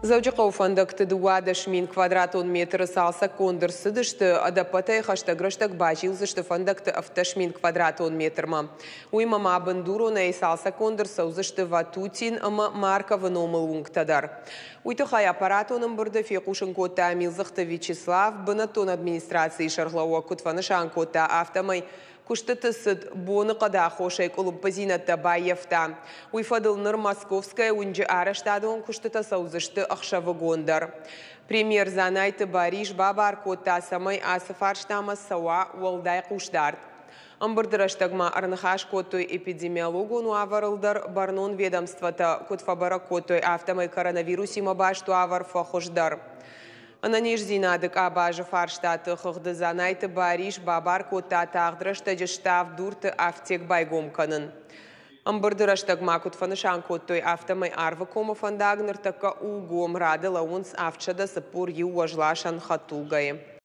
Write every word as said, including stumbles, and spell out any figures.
Дзӕуджыхъӕуы фӕндӕгты дыууадӕс мин квадратон метры цалцӕггонд ӕрцыдысты, ӕдӕппӕтӕй хӕстӕг рӕстӕг базилдзысты фӕндӕгты ӕвддӕс мин квадратон метрмӕ. Уыимӕ ма бындуронӕй цалцӕггонд ӕрцӕудзысты Ватутин ӕмӕ Марковы номыл уынгтӕ дӕр. Уый тыххӕй аппаратон ӕмбырды фехъусын кодта Милдзыхты Вячеслав. Бынӕттон администрацийы сӕргълӕууӕг куыд фӕнысан кодта, афтӕмӕй куыстыты цыд боныхъӕды аххосӕй къуылымпыдзинӕдтӕ баййӕфта. Уый фӕдыл ныр Московская уынджы арӕзтадон куыстытӕ цӕудзысты ӕхсӕвыгон дӕр. Премьер Дзанайты Барис бабар кодта, цӕмӕй ацы фарстамӕ цӕуа уӕлдай хъусдард. Ӕмбырды рӕстӕг ма ӕрныхас кодтой эпидемиологон уавӕрыл дӕр. Бӕрнон ведомствотӕ куыд фӕбӕрӕг кодтой, афтӕмӕй коронавирусимӕ баст уавӕр фӕхуыздӕр. Ӕнӕниздзинады къабазы фарстаты хыгъды Дзанайты Барис бабар кодта тагъд рӕстӕджы Ставд-Дурты афтек байгом кӕнын. Ӕмбырды рӕстӕг ма куыд фӕнысан кодтой, афтӕмӕй Арвыкомы фӕндаг ныртӕккӕ у гом, рады лӕууынц авдсӕдӕ цыппор иу уӕзласӕн хӕдтулгӕйы.